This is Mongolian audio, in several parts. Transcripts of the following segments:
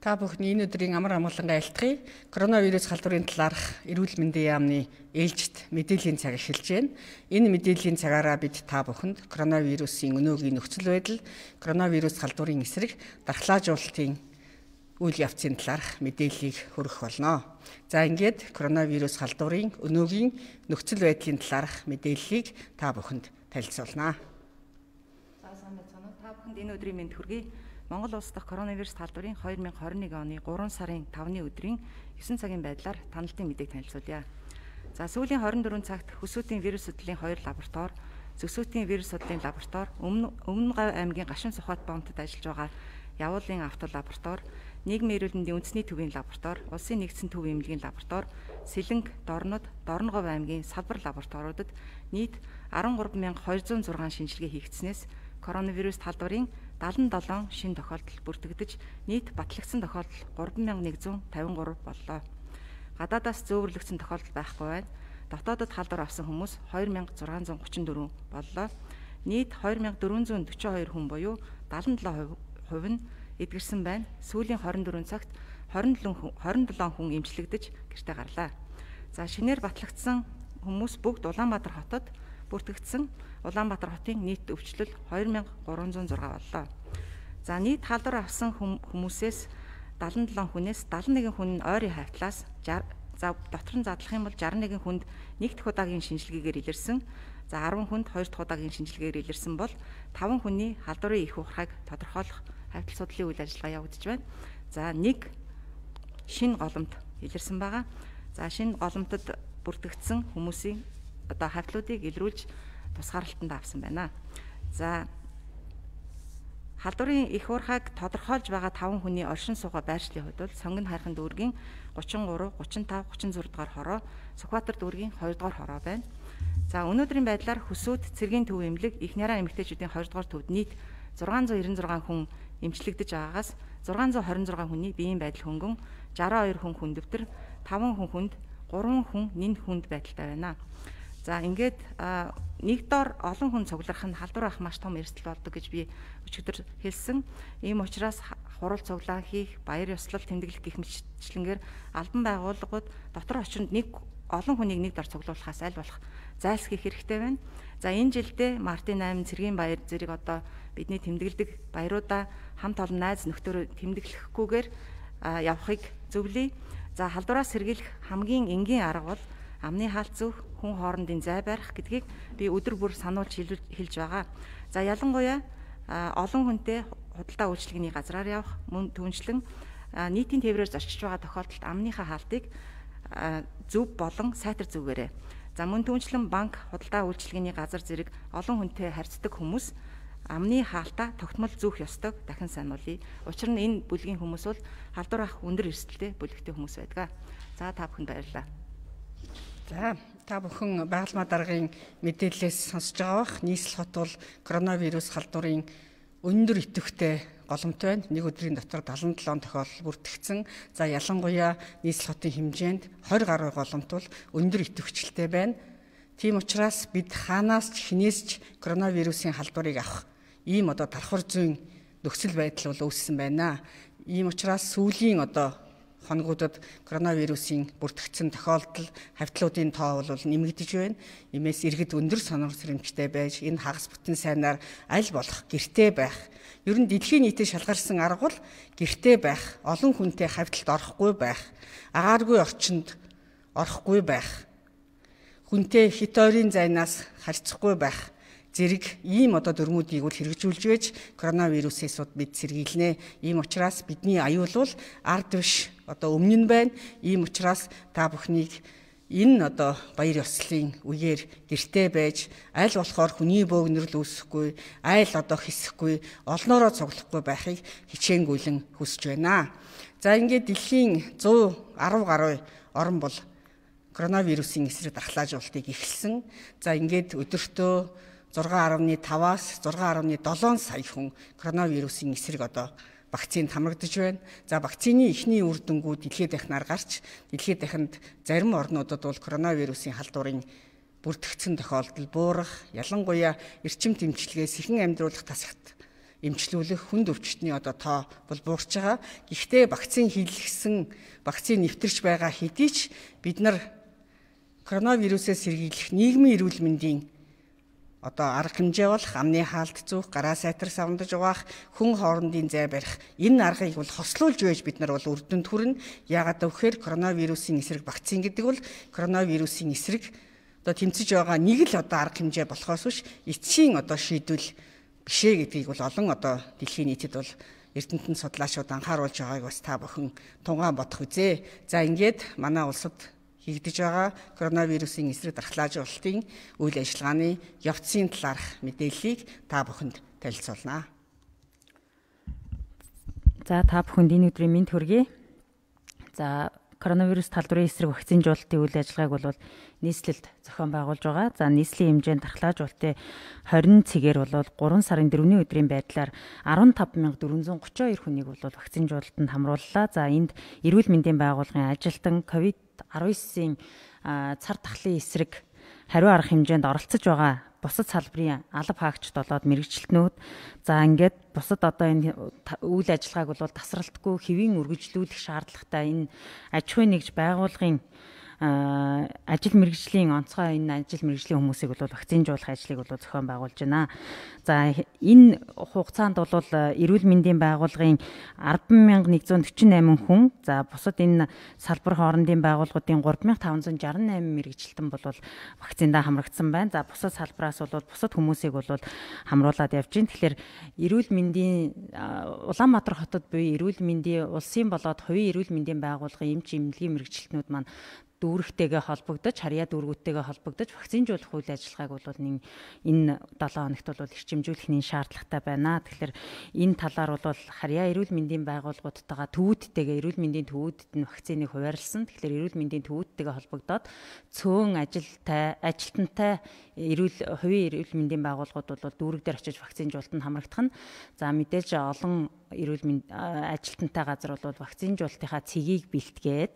Та бүхний энэ өдрийн амар амгалангаа айлтгая. Коронавирус халдварын талаарх эрүүл мэндийн яамны ээлжид мэдээллийн цаг эхэлж байна. Энэ мэдээллийн цагаараа бид та бүхэнд коронавирусын өнөөгийн нөхцөл байдал, коронавирус халдварын эсрэг дархлаажуулалтын үйл явцын талаарх мэдээллийг хүргэх болно. За ингээд коронавирус халдварын өнөөгийн нөхцөл байдлын талаарх мэдээллийг та бүхэнд танилцуулнаа. За сайн байна уу? Та бүхэнд энэ өдрийн мэнд хүргэе. Монгол улс дахь коронавирус халдварын 2021 оны 3 сарын 5-ны өдрийн 9 цагийн байдлаар таналтын мэдээг танилцуулъя. За сүүлийн 24 цагт хөсөөтийн вирус судлалын 2 лаборатори, зөвсөөтийн вирус судлалын лаборатори, Өмнө Гав аймгийн Гашуун Сухбат боомтод ажиллаж байгаа Явуулын автолаборатори, нийгмийн эрүүл мэндийн үндэсний төвийн лаборатори, улсын нэгдсэн төв эмнэлгийн лаборатори, Сэлэнг, Дорнод, Дорногов аймгийн салбар лабораториудад нийт 13206 шинжилгээ хийгдснээс коронавирус халдварын 77 шинэ тохиолдол бүртгэгдэж нийт батлагдсан тохиолдол 3153 боллоо. Гадаадаас зөөвөрлөгдсөн тохиолдол байхгүй байна. Дотоодод халдвар авсан хүмүүс 2634 боллоо. Нийт 2442 хүн буюу 77% нь эдгэрсэн байна. Сүүлийн 24 цагт 27 хүн эмчлэгдэж гэртээ гарлаа. За шинээр батлагдсан хүмүүс бүгд Улаанбаатар хотод бүртгэгдсэн. Улаанбаатар хотын нийт өвчлөл 2306 боллоо. За нийт халдвар авсан хүмүүсээс 77 хүнээс 71 хүн нь ойрын хавьтлаас дотор нь задлах юм бол 61 хүнд нэг дахь удаагийн шинжилгээгээр илэрсэн. За 10 хүнд хоёр дахь удаагийн шинжилгээгээр илэрсэн бол 5 хүний халдварын их ухааг тодорхойлох хавьтал судлалын үйл ажиллагаа явагдаж байна. За нэг шинэ голомт илэрсэн байгаа. За шинэ голомтод бүртгэгдсэн хүмүүсийн одоо хавьтлуудыг илрүүлж тусгаарлалтанд авсан байна. За халдварын их уурхайг тодорхойлж байгаа 5 хүний оршин суугаа байршлын хувьд бол Сонгон хайрхан дүүргийн 33, 35, 36 дугаар хороо, Сүхбаатар дүүргийн 2 дугаар хороо байна. За өнөөдрийн байдлаар Хөсөөт, Цэргийн төв эмнэлэг, их нараа эмэгтэйчүүдийн 2 дугаар төвд нийт 696 хүн эмчлэгдэж байгаагаас 626 хүний биеийн байдал хөнгөн, 62 хүн хүндөвтөр, 5 хүн хүнд, 3 хүн нэн хүнд байдалтай байна. За ингээд нэг дор олон хүн цугларах нь халдвар авах маш том эрсдэл болдог гэж би өчигдөр хэлсэн. Ийм учраас хурал цуглаан хийх, баяр ёслол тэмдэглэх гэх мэтчлэнгээр албан байгууллагууд дотор очинд олон хүнийг нэг дор цуглуулахаас аль болох зайлсхийх хэрэгтэй байна. За энэ жилдээ Мартин 8 цэргийн баяр зэрэг одоо бидний тэмдэглэдэг баяруудаа хамт олон найз нөхдөөрөө тэмдэглэхгүйгээр явахыг зөвлөе. За халдвараас сэргийлэх хамгийн энгийн арга бол амны хаалт зөөх, хүн хоорондын зай барих гэдгийг би өдөр бүр сануулж хэлж байгаа. За ялангуяа олон хүнтэй худалдаа үйлчилгээний газраар явах, мөн түншлэн нийтийн тээврээр зорчиж байгаа тохиолдолд амныхаа хаалтыг зөв болон сайтар зүгээрээ. За мөн түншлэн банк, худалдаа үйлчилгээний газар зэрэг олон хүнтэй харьцдаг хүмүүс амны хаалтаа тогтмол зүүх ёстойг дахин сануулъя. Учир нь энэ бүлгийн хүмүүс бол халдвар авах өндөр эрсдэлтэй бүлэгтэй хүмүүс байдаг. За та бүхэнд баярлалаа. За та бүхэн байгалмаа даргын мэдээлэлээс сонсож байгаа бах. Нийслэл хот бол коронавирус халдварын өндөр идэвхтэй голомт байна. Нэг өдрийн дотор 77 тохиолдол бүртгэгдсэн. За ялангуяа нийслэл хотын хэмжээнд 20 гаруй голомт бол өндөр идэвхжлтэй байна. Тийм учраас бид хаанаас ч хинээс ч коронавирусын халдварыг авах ийм одоо давхар зүйн нөхцөл байдал бол үүссэн байна. Ийм учраас сүүлийн одоо хоногудад коронавирусын бүртгэгдсэн тохиолдол хавьтлуудын тоо бол нэмэгдэж байна. Иймээс иргэд өндөр сонор сэрэмжтэй байж энэ хагас бүтэн сайнаар аль болох гэртээ байх. Ер нь дэлхийн нийтэд шалгарсан арга бол гэртээ байх, олон хүнтэй хавьталд орохгүй байх, агааргүй орчинд орохгүй байх, хүнтэй хит ойрын зайнаас харьцахгүй байх зэрэг ийм одоо дүрмүүдийг бол хэрэгжүүлж байж коронавирусээс бид сэргийлнэ. Ийм учраас бидний аюул бол ард биш одоо өмнө нь байна. Ийм учраас та бүхнийг энэ одоо баяр ёслолын үеэр гэртээ байж аль болохоор хүний бөөгнөрл үүсэхгүй, айл одоо хэсэхгүй, олноороо цуглахгүй байхыг хичээнгүйлэн хүсэж байна. За ингээд дэлхийн 110 гаруй орн бол коронавирусын эсрэг дархлаажуулалтыг эхэлсэн. За ингээд өдөртөө 6.5-аас 6.7 сая хүн коронавирусын эсрэг одоо вакцинд хамрагдаж байна. За вакцины эхний үр дүнгууд дэлхийд дахинаар гарч, дэлхийд дахинд зарим орнуудад бол коронавирусын халдварын бүртгэгдсэн тохиолдол буурах, ялангуяа эрчим тэмчилгээс ихэн амьдруулах тасагт эмчлүүлэх хүнд өвчтний одоо тоо бол буурч байгаа. Гэхдээ вакцин хийлгэсэн, вакцин нэвтэрч байгаа хэдий ч бид нар коронавирусээс сэргийлэх нийгмийн эрүүл мэндийн одоо арга хэмжээ болох амны хаалт зүүх, гараа сайтар савндаж угаах, хүн хоорондын зай барих энэ аргыг бол хослуулж байж бид нар бол үр дүнд хүрнэ. Яагаад гэвэл коронавирусын эсрэг вакцин гэдэг бол коронавирусын эсрэг одоо тэмцэж байгаа нэг л одоо арга хэмжээ болохоос биш эцсийн одоо шийдвэл биш ээ гэдгийг бол олон одоо дэлхийн нийтэд бол эрдэмтэн судлаачид анхааруулж байгааг бас та бүхэн тунгаан бодох үзье. За ингээд манай улсад хийгдэж байгаа коронавирусын эсрэг дархлаажуулалтын үйл ажиллагааны явцын талаарх мэдээллийг та бүхэнд танилцуулнаа. За та бүхэнд энэ өдрийн мэнд хүргэе. За коронавирус талбарын эсрэг вакцинжуулалтын үйл ажиллагааг бол нийслэлд зохион байгуулж байгаа. За нийслэлийн хэмжээнд дархлаажуулалтын 20 цэгээр бол 3 сарын 4-ний өдрийн байдлаар 15,432 хүнийг бол вакцинжуулалтанд хамрууллаа. За энд эрүүл мэндийн байгууллагын ажилтан COVID-19-ийн цар тахлын эсрэг хариу арга хэмжээнд оролцож байгаа бусад салбарын алба хаагчд болоод мэрэгчлэтнүүд за ингээд бусад одоо энэ үйл ажиллагааг бол тасралтгүй хэвийн үргэлжлүүлэх шаардлагатай энэ аж ахуйн нэгж байгууллагын ажил мэргэжлийн онцгой энэ ажил мэргэжлийн хүмүүсийг бол вакцинжуулах ажлыг бол зохион байгуулж байна. За энэ хугацаанд бол эрүүл мэндийн байгууллагын 10,148 хүн, за бусад энэ салбар хоорондын байгууллагуудын 3,568 мэргэжилтэн бол вакциндаа хамрагдсан байна. За бусад салбараас бол бусад хүмүүсийг бол хамруулад явж байна. Тэгэхээр эрүүл мэндийн Улаанбаатар хотод буюу эрүүл мэндийн улсын болоод хувийн эрүүл мэндийн байгууллагын эмч эмнэлгийн мэргэжилтнүүд маань дүүрэгтэйгээ холбогдож, харьяа дүүргүүдтэйгээ холбогдож вакцинжуулах үйл ажиллагааг бол энэ 7 хоногт бол эрчимжүүлэх нь шаардлагатай байна. Тэгэхээр энэ талаар бол харьяа эрүүл мэндийн байгууллагуудтайгаа төвүүдтэйгээ эрүүл мэндийн төвүүдэд нь вакциныг хуваарлсан. Тэгэхээр эрүүл мэндийн төвүүдтэйгээ холбогдоод цөөн ажилтнтай хувийн эрүүл мэндийн байгууллагууд бол дүүрэг дээр очиж вакцинжуулалтанд хамрагдах нь. За мэдээж олон эрүүл мэндийн ажилтнтай газар бол вакцинжуулалтынхаа цэгийг бэлтгээд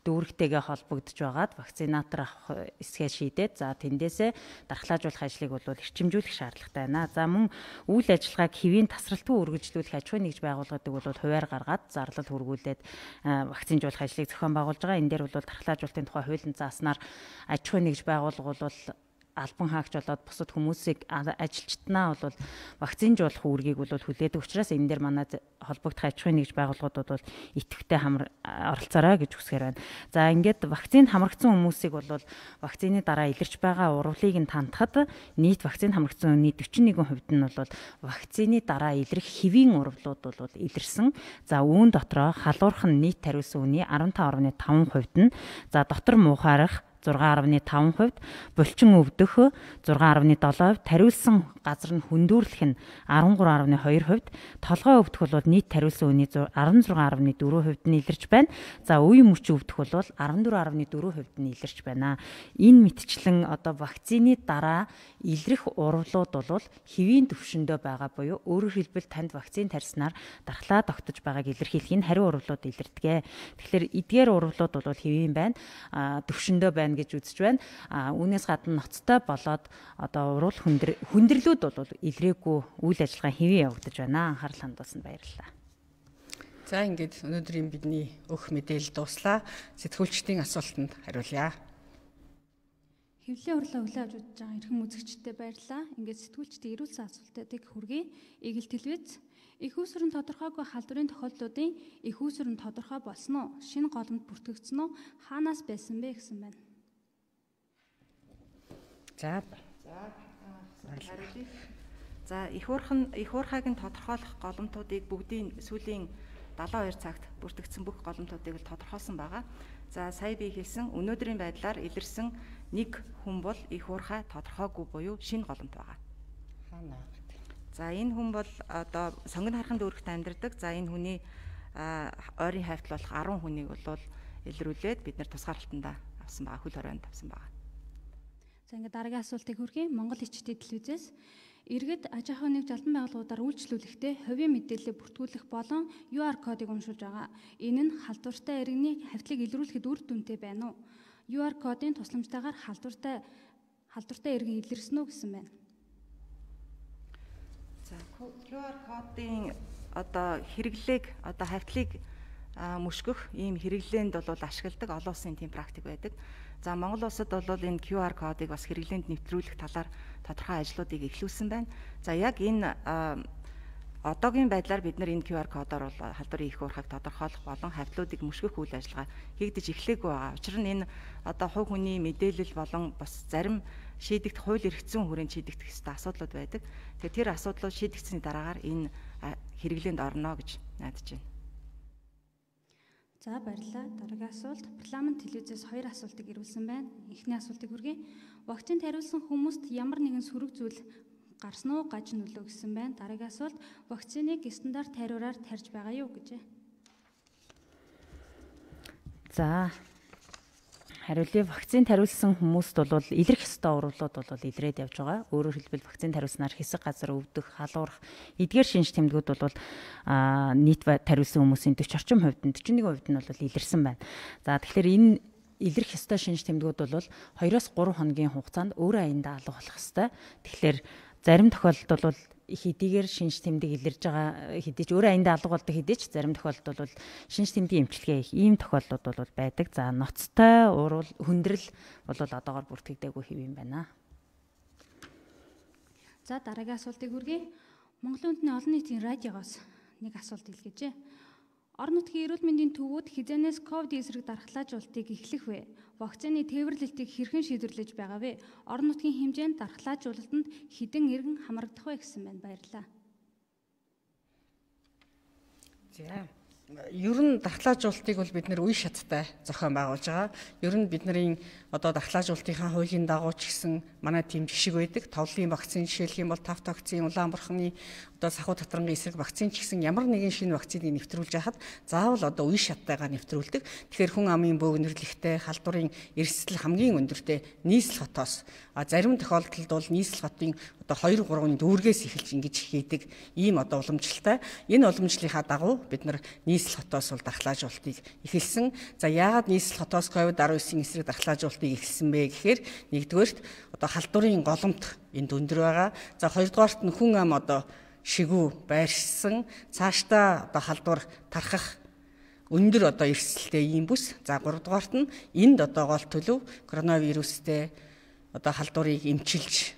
дүүрэгтэйгээ холбогдож байгаад вакцинатор авах эсгээ шийдээд за тэндээсээ дархлаажуулах ажлыг бол эрчимжүүлэх шаардлагатай байна. За мөн үйл ажиллагааг хэвийн тасралтгүй үргэлжлүүлэх аж ахуйн нэгж байгууллагуудыг бол хуваар гаргаад зарлал хүргүүлээд вакцинжуулах ажлыг зохион байгуулж байгаа. Энэ дээр бол дархлаажуулалтын тухай хуулийн зааснаар аж ахуйн нэгж байгууллага бол албан хаагч болоод бусад хүмүүсийг ажилчтнаа бол вакцинжуулах үүргийг бол хүлээдэг учраас энэ дээр манай холбогдох аж ахуйн нэгж байгууллагуудад бол идэвхтэй оролцоорой гэж хүсгээр байна. За ингээд вакцинд хамрагдсан хүмүүсийг бол вакцины дараа илэрч байгаа урвалыг нь тантахад нийт вакцинд хамрагдсан хүний 41% нь бол вакцины дараа илрэх хэвийн урвалууд бол илэрсэн. За үүн дотроо халуурах нь нийт тариулсан хүний 15.5% нь за дотор муухаарах 6.5%, булчин өвдөх 6.7%, тариулсан газар нь хүндүүрлэх нь 13.2%, толгой өвдөх бол нийт тариулсан үний 16.4% нь илэрч байна. За үе мөч өвдөх бол 14.4% нь илэрч байна. Энэ мэтчлэн одоо вакцины дараа илрэх урвалууд бол хэвийн төвшөндөө байгаа буюу өөрөөр хэлбэл танд вакцин тарьснаар дархлаа тогтож байгааг илэрхийлэх нь хариу урвалууд илэрдэг. Тэгэхээр эдгээр урвалууд бол хэвийн байна. Төвшөндөө байна гэж үзэж байна. Үүнээс гадна ноцтой болоод одоо урвал хүндрэлүүд бол илрээгүй үйл ажиллагаа хэвэн явагдаж байна. Анхаарал хандуулсанд баярлалаа. За ингээд өнөөдрийн бидний өгөх мэдээлэл дуслаа. Сэтгүүлчдийн асуултанд хариулъя. Хэвлэлийн урлаа хүлээж авч байгаа эрхэм үзэгчдэд баярлалаа. Ингээд сэтгүүлчдийн эрүүл сайн асуултуудыг хүргэе. Игэл телевиз их үүсвэрийн тодорхойгүй халдварын тохиолдлуудын их үүсвэр нь тодорхой болсон уу? Шинэ голомт бүртгэгдсэн үү? Хаанаас байсан бэ гэсэн байна. За их хуурхайг нь тодорхойлох голомтуудыг бүгдийн сүүлийн 72 цагт бүртгэгдсэн бүх голомтуудыг л тодорхойлсон байгаа. За сая би хэлсэн өнөөдрийн байдлаар илэрсэн нэг хүн бол их хуурхай тодорхойгүй буюу шинэ голомт байгаа. За энэ хүн бол одоо сонгон харахын дүүрэгт амьдардаг. За энэ хүний ойрын хавьтал болох 10 хүнийг бол илрүүлээд бид нэр тусгаарлалтанда авсан байгаа, хөл хорионд авсан байгаа. За ингээд дараагийн асуултыг хүргэе. Монгол ичдийн телевизээс иргэд аж ахуйн нэгж албан байгууллагуудаар үйлчлүүлэхдээ хувийн мэдээлэл бүртгүүлэх болон QR кодыг уншуулж байгаа. Энэ нь халдвартай иргэний хавьтлыг илрүүлэхэд үр дүнтэй байна уу? QR кодын тусламжтайгаар халдвартай иргэн илэрсэн үү гэсэн байна. За QR кодын одоо хэрэглээг одоо хавьтлыг мөшгөх ийм хэрэглээнд бол ашигладаг олон улсын тийм практик байдаг. За Монгол улсад бол энэ QR кодыг бас хэрэглээнд нэвтрүүлэх талаар тодорхой ажлуудыг эхлүүлсэн байна. За яг энэ одоогийн байдлаар бид нар энэ QR кодоор бол халдварын их уурхайг тодорхойлох болон хавьтлуудыг мөшгөх үйл ажиллагаа хийгдэж эхлэегүй байгаа. Учир нь энэ одоо хувь хүний мэдээлэл болон бас зарим шийдэгдэх хууль эрх зүйн хүрээнд шийдэгдэх ёстой асуудлууд байдаг. Тэгэхээр тэр асуудлууд шийдэгдсэний дараагаар энэ хэрэглээнд орно гэж найдаж байна. За баярлалаа. Дараагийн асуулт парламент телевизээс 2 асуултыг ирүүлсэн байна. Эхний асуултыг хүргэе. Вакцинд хариулсан хүмүүст ямар нэгэн сөрөг зүйл гарсан уу, гаж нөлөө гэсэн байна. Дараагийн асуулт вакциныг стандарт хариураар тарьж байгаа юу гэжээ. За хариулъя. Вакцинд хариулсан хүмүүст бол илэрх ёстой урвалууд бол илрээд явж байгаа. Өөрөөр хэлбэл вакцинд хариулснаар хэсэг газар өвдөх, халуурах, эдгээр шинж тэмдгүүд бол нийт хариулсан хүмүүсийн 40 орчим хувьд нь 41% нь бол илэрсэн байна. За тэгэхээр энэ илэрх ёстой шинж тэмдгүүд бол 2-3 хоногийн хугацаанд өөрөө аяндаа алга болох ёстой. Тэгэхээр зарим тохиолдолд бол хэдийгээр шинж тэмдэг илэрж байгаа хэдий ч өөрөө аяндаа алга болдог хэдий ч зарим тохиолдолд бол шинж тэмдгийн эмчилгээ их ийм тохиолдлууд бол байдаг. За ноцтой уурал хүндрэл бол одоогоор бүртгэгдээгүй хэв юм байна. За дараагийн асуултыг хүргэе. Монголын үндэсний олон нийтийн радиогоос нэг асуулт илгээжээ. Орон нутгийн эрүүл мэндийн төвүүд хизээнээс ковид эсрэг дархлаажуулалтыг эхлэх вэ? Вакцины тээвэрлэлтийг хэрхэн шийдвэрлэж байгаа вэ? Орон нутгийн хэмжээнд дархлаажуулалтанд хэдэн иргэн хамрагдах вэ гэсэн байна. Баярлалаа. За ер нь дархлаажуулалтыг бол бид нэр үе шаттай зохион байгуулж байгаа. Ер нь бидний одоо дархлаажуулалтынхаа хуулийн дагуу ч гэсэн манай тийм жишг байдаг. Товлын вакцин жишээлх юм бол тавт вакцин, Улаанбарханы одоо сахуу татрангийн эсрэг вакцин ч гэсэн ямар нэгэн шинэ вакциныг нэвтрүүлж яхад заавал одоо үе шаттайгаар нэвтрүүлдэг. Тэгэхээр хүн амын бөөгнөрлөгтэй, халдварын эрсдэл хамгийн өндөртэй нийслэл хотоос зарим тохиолдолд бол нийслэл хотын одоо 2-3 дүүргээс эхэлж ингэж хийдэг ийм одоо уламжлалтай. Энэ уламжлалынхаа дагуу бид нар нийслэл хотоос бол дархлаажуулалтыг эхэлсэн. За яагаад нийслэл хотоос COVID-19 эсрэг дархлаажуулалтыг эхэлсэн бэ гэхээр нэгдүгээрт одоо халдварын голомт энд өндөр байгаа. За хоёрдугаарт нь хүн ам одоо шигүү байршсан цаашдаа одоо халдвар тархах өндөр одоо эрсдэлтэй ийм бүс. За гуравдугаарт нь энд одоо гол төлөв коронавирустэй одоо халдварыг эмчилж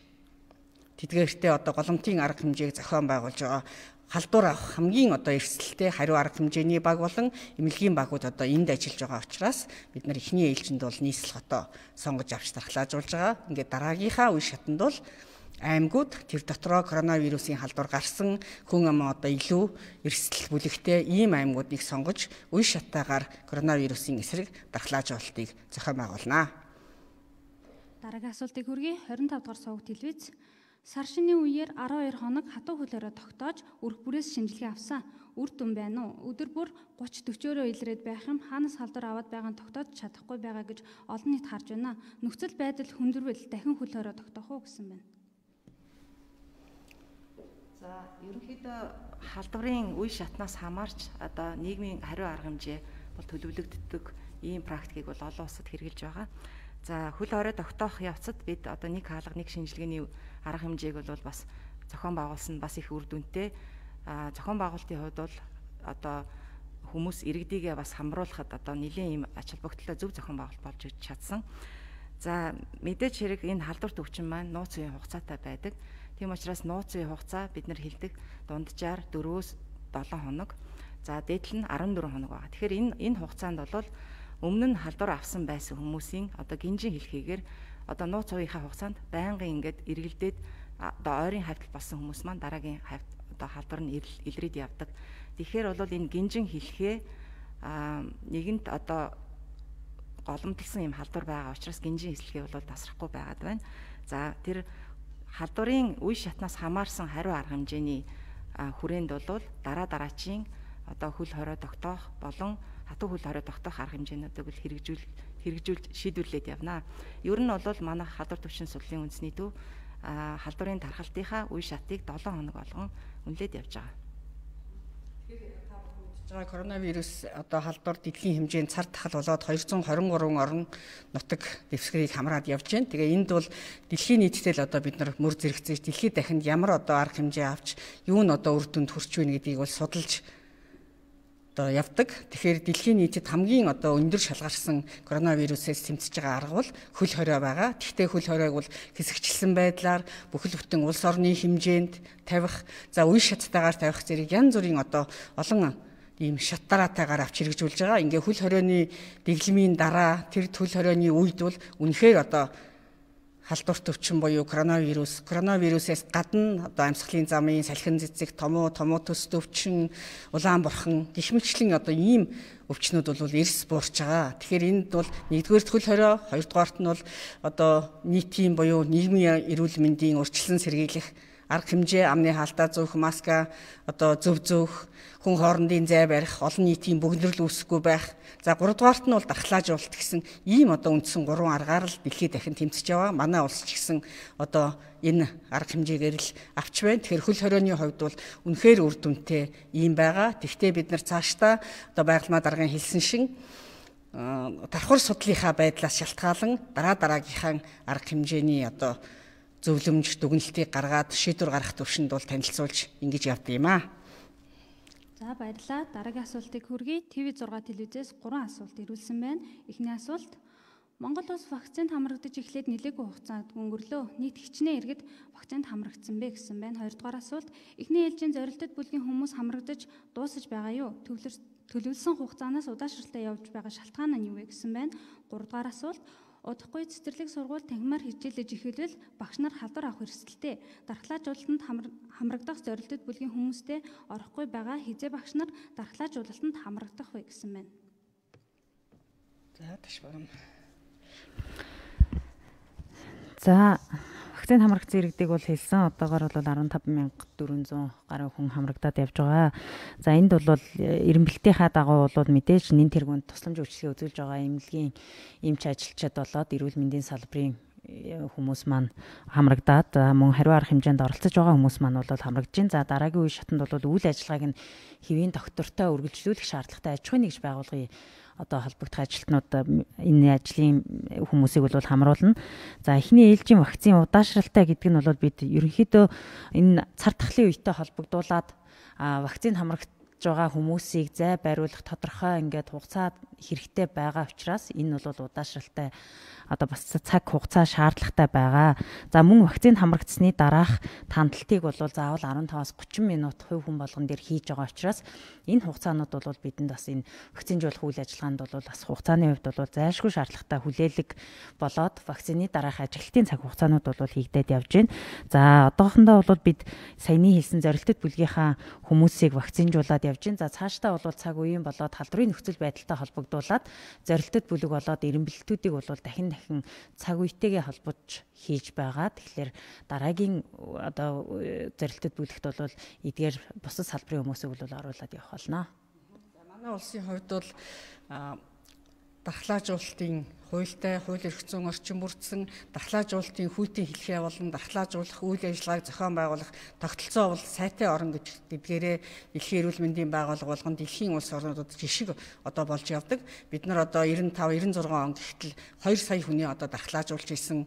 тэдгээртээ одоо голомтын арга хэмжээг зохион байгуулж байгаа. Халдвар авах хамгийн одоо эрсдэлтэй хариу арга хэмжээний баг болон эмнэлгийн багууд одоо энд ажиллаж байгаа учраас бид нар эхний ээлжинд бол нийслэл хотоо сонгож авч дархлаажуулж байгаа. Ингээд дараагийнхаа үе шатанд бол аймагуд тэр дотроо коронавирусын халдвар гарсан хүн ам одоо илүү эрсдэл бүлэгтэй ийм аймагуудыг сонгож үе шаттайгаар коронавирусын эсрэг дархлаажуулалтыг зохион байгуулнаа. Дараагийн асуултыг хүргэе. 25 дугаар суваг телевиз сар шинийн үеэр 12 хоног хатуу хөлөөрөө тогтоож өрх бүрээс шинжилгээ авсан. Үр дүн байна уу? Өдөр бүр 30-40-өрөө илрээд байх юм. Хаанаас халдвар аваад байгаа нь тогтоож чадахгүй байгаа гэж олон нийт харж байна. Нөхцөл байдал хүндрвэл дахин хөлөөрөө тогтоох уу гэсэн байна. За ерөнхийдөө халдварын үе шатнаас хамаарч одоо нийгмийн хариу арга хэмжээ бол төлөвлөгддөг ийм практикийг бол олон улсад хэрэгжилж байгаа. За хөл хорой тогтоох явцад бид одоо нэг хаалга нэг шинжилгээний арга хэмжээг бол бас зохион байгуулсан бас их үр дүнтэй. Зохион байгуулалтын хувьд бол одоо хүмүүс иргэдийгээ бас хамруулахад одоо нэлийн ийм ач холбогдолтой зөв зохион байгуулалт болж чадсан. За мэдээж хэрэг энэ халдвар төвчин маань нууц үеийн хугацаатай байдаг. Тийм учраас нууц үеийн хугацаа бид нар хэлдэг дунджаар 4-7 хоног. За дээдл нь 14 хоног байгаа. Тэгэхээр энэ хугацаанд бол өмнө нь халдвар авсан байсан хүмүүсийн одоо гинжин хэлхийгээр одоо нууц үеийнхаа хугацаанд байнгын ингээд эргэлдээд одоо ойрын хавьтал болсон хүмүүс маань дараагийн хавьт одоо халдвар нь илрээд явдаг. Тэгэхээр бол энэ гинжин хэлхээ нэгэнт одоо голомдлсон юм халдвар байгаа учраас гинжин хэлхээ бол тасрахгүй байгаад байна. За тэр халдварын үе шатнаас хамаарсан хариу арга хэмжээний хүрээнд бол дараачийн одоо хөл хорой тогтоох болон хатуу хөл хорой тогтоох арга хэмжээнүүдийг бол хэрэгжүүлж шийдвэрлээд явна. Ер нь бол манай халдвар төвчин судлалын үндэсний төв халдварын тархалтынхаа үе шатыг 7 хоног болгон үнэлээд явж байгаа. Тэгэхээр та бүхэнд Коронавирус одоо халдвар дэлхийн хэмжээнд цар тахал болоод 223 орон нутаг дэвсгэрийг хамраад явж байна. Тэгээ энд бол дэлхийн нийтэд л одоо бид нар мөр зэрэгцээж дэлхийд дахинд ямар одоо арга хэмжээ авч юу нь одоо үр дүнд хүрч байна гэдгийг бол судалж одоо явдаг. Тэгэхээр дэлхийн нийтэд хамгийн одоо өндөр шалгарсан коронавирусээс тэмцэж байгаа арга бол хөл хорио байгаа. Тэгвэл хөл хориог бол хэсэгчлсэн байдлаар бүхэл бүтэн улс орны хэмжээнд тавих, за үе шаттайгаар тавих зэрэг янз бүрийн одоо олон ийм шат дараатайгаар авч хэрэгжүүлж байгаа. Ингээ хөл хорионы дэглэмийн дараа тэр хөл хорионы үед бол үнэхээр одоо халдварт өвчин буюу коронавирусээс гадна одоо амьсгалын замын салхин цэцэг, томуу төс өвчин, улаан бурхан гэх мэтлэн одоо ийм өвчнүүд бол эрс буурч байгаа. Тэгэхээр энд бол нэгдүгээр хөл хорио, хоёрдугаарт нь бол одоо нийтийн буюу нийгмийн эрүүл мэндийн урьдчилан сэргийлэх арга хэмжээ, амны хаалтаа зөөх, маска одоо зөв зөөх, хүн хоорондын зай барих, олон нийтийн бөгнөрл үүсэхгүй байх. За 3 дугаарт нь бол дархлаажуулалт гэсэн ийм одоо үндсэн 3 аргаар л дэлхийд дахин тэмцэж байгаа. Манай улс ч гэсэн одоо энэ арга хэмжээгээр л авч байна. Тэгэхээр хөл хорионы хувьд бол үнэхээр үр дүнтэй ийм байгаа. Тэгвэл бид нар цаашдаа одоо байгалмаа даргын хэлсэн шиг давхар судлалынхаа байдлаас шалтгаалan дараагийнхаа арга хэмжээний одоо зөвлөмж дүгнэлтийг гаргаад шийдвэр гаргах төвшөнд бол танилцуулж ингэж явдаг юм аа. За баярлалаа. Дараагийн асуултыг хүргэе. ТV6 телевизээс 3 асуулт ирүүлсэн байна. Эхний асуулт: Монгол улс вакцинд хамрагдаж эхлээд нэлээгүй хугацаанд өнгөрлөө. Нийт хичнээн иргэд вакцинд хамрагдсан бэ гэсэн байна. Хоёрдугаар асуулт: Эхний ээлжийн зорилттой бүлгийн хүмүүс хамрагдаж дуусаж байгаа юу? Төлөвлөсөн хугацаанаас удаашралтай явж байгаа шалтгаан нь юу вэ гэсэн байна. Гуравдугаар асуулт: Удахгүй цэцэрлэг сургууль танхимаар хичээлж эхэлвэл багш нар халдвар авах эрсдэлтэй. Дархлаажуулалтанд хамрагдах зорилттой бүлгийн хүмүүстэй орохгүй байгаа хизээ багш нар дархлаажуулалтанд хамрагдах вэ гэсэн байна. За таш байна. За вакцинд хамрагдсан иргэдийг бол хэлсэн. Одоогоор бол 15,400 гаруй хүн хамрагдаад явж байгаа. За энд бол эренбэлтийнхаа дагуу бол мэдээж нэн тэргуунд тусламж үйлчилгээ үзүүлж байгаа эмнэлгийн эмч ажилчид болоод эрүүл мэндийн салбарын хүмүүс маань хамрагдаад мөн хариу арга хэмжээнд оролцож байгаа хүмүүс маань бол хамрагдж байна. За дараагийн үе шатанд бол үйл ажиллагааг нь хэвийн доктортой үргэлжлүүлэх шаардлагатай аж ахуйн нэгж байгууллагын одоо холбогдох ажилтнууд энэ ажлын хүмүүсийг бол хамруулна. За эхний ээлжийн вакцины удаашралтай гэдэг нь бол бид ерөнхийдөө энэ цар тахлын үетэй холбогдуулаад вакцины хамрагдж байгаа хүмүүсийг зай бариулах тодорхой ингээд хугацаа хэрэгтэй байгаа учраас энэ бол удаашралтай одоо бас цаг хугацаа шаардлагатай байгаа. За мөн вакцины хамрагдсны дараах тандалтыг бол заавал 15-аас 30 минут хувь хүн болгон дээр хийж байгаа учраас энэ хугацаанууд бол бидэнд бас энэ вакцинжуулах үйл ажиллагаанд бол бас хугацааны хувьд бол зайлшгүй шаардлагатай хүлээлэг болоод вакцины дараах ажиглалтын цаг хугацаанууд бол хийгдээд явж байна. За одоохондоо бол бид саяны хэлсэн зорилттой бүлгийнхаа хүмүүсийг вакцинжуулаад явж байна. За цаашдаа бол цаг үеийн болоод халдварын нөхцөл байдалтай холбогдуулаад зорилттой бүлэг болоод эренбэлтүүдийг бол дахин цаг үетэйгээ холбож хийж байгаа. Тэгэхээр дараагийн одоо зорилттой бүлэгт бол эдгээр бусад салбарын хүмүүсийг бол оруулаад явах болно. Манай улсын хувьд бол дархлаажуулалтын хуультай, хууль эрх зүйн орчин бүрдсэн дархлаажуулалтын хүйтийн хэлхээ болон дархлаажуулах үйл ажиллагааг зохион байгуулах тогтолцоо бол сайтай орон гэдгээрээ дэлхийн эрүүл мэндийн байгууллага болгон дэлхийн улс орнуудад жишг одоо болж явдаг. Бид нар одоо 95-96 он гэтэл 2 сая хүний одоо дархлаажуулж исэн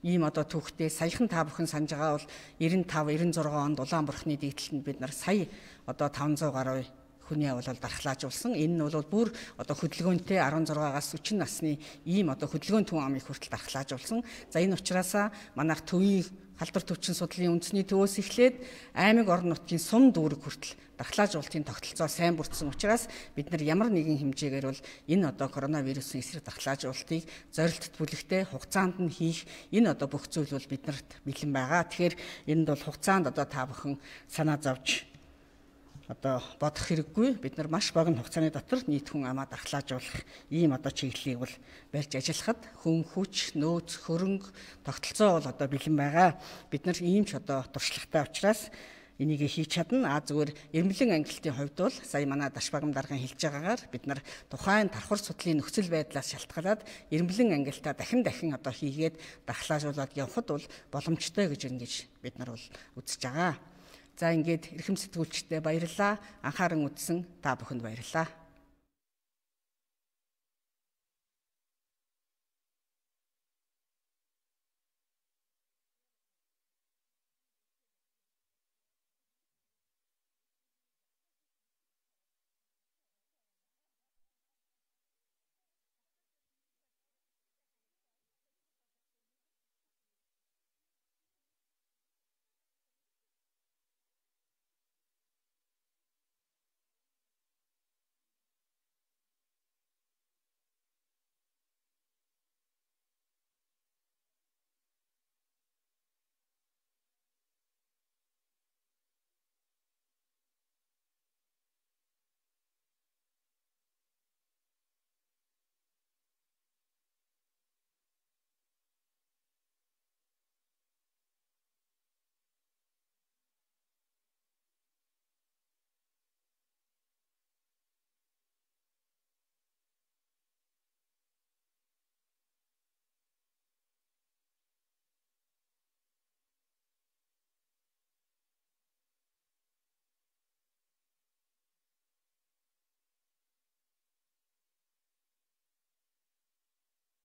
ийм одоо түүхтэй саяхан та бүхэн санаж байгаа бол 95-96 онд Улаанбурхны дэгдэлтэнд бид нар сая одоо 500 гаруй хүний бол дархлаажуулсан. Энэ нь бол бүр одоо хөдөлгөөнтэй 16-аас 40 насны ийм одоо хөдөлгөөн түн амыг хүртэл дархлаажуулсан. За энэ учраас манайх төвийн халдвар төвчин судлалын үндэсний төвөөс эхлээд аймаг орон нутгийн сум дүүрэг хүртэл дархлаажуулалтын тогтолцоо сайн бүрдсэн учраас бид нар ямар нэгэн хэмжээгээр бол энэ одоо коронавирусын эсрэг дархлаажуулалтыг зорилттой бүлэгтэй хугацаанд нь хийх энэ одоо бүх зүйл бол биднэрт бэлэн байгаа. Тэгэхээр энд бол хугацаанд одоо та бүхэн санаа зовж одоо бодох хэрэггүй. Бид нар маш богино хугацааны дотор нийт хүн амаа дархлаажуулах ийм одоо чиглэлийг бол барьж ажиллахад хүн хүч, нөөц, хөрөнгө, тогтолцоо бол одоо бэлэн байгаа. Бид нар ийм ч одоо туршлагатай учраас энийг хийж чадна. Зүгээр эрмэлэн ангиллалтын хувьд бол сая манай Дашбагам даргын хэлж байгаагаар бид нар тухайн давхар судлалын нөхцөл байдлаас шалтгаалаад эрмэлэн ангиллалтаа дахин одоо хийгээд дархлаажуулаад явхад бол боломжтой гэж ингэж бид нар бол үзэж байгаа. За ингээд эрхэм сэтгүүлчдээ баярлалаа. Анхааран үзсэн та бүхэнд баярлалаа.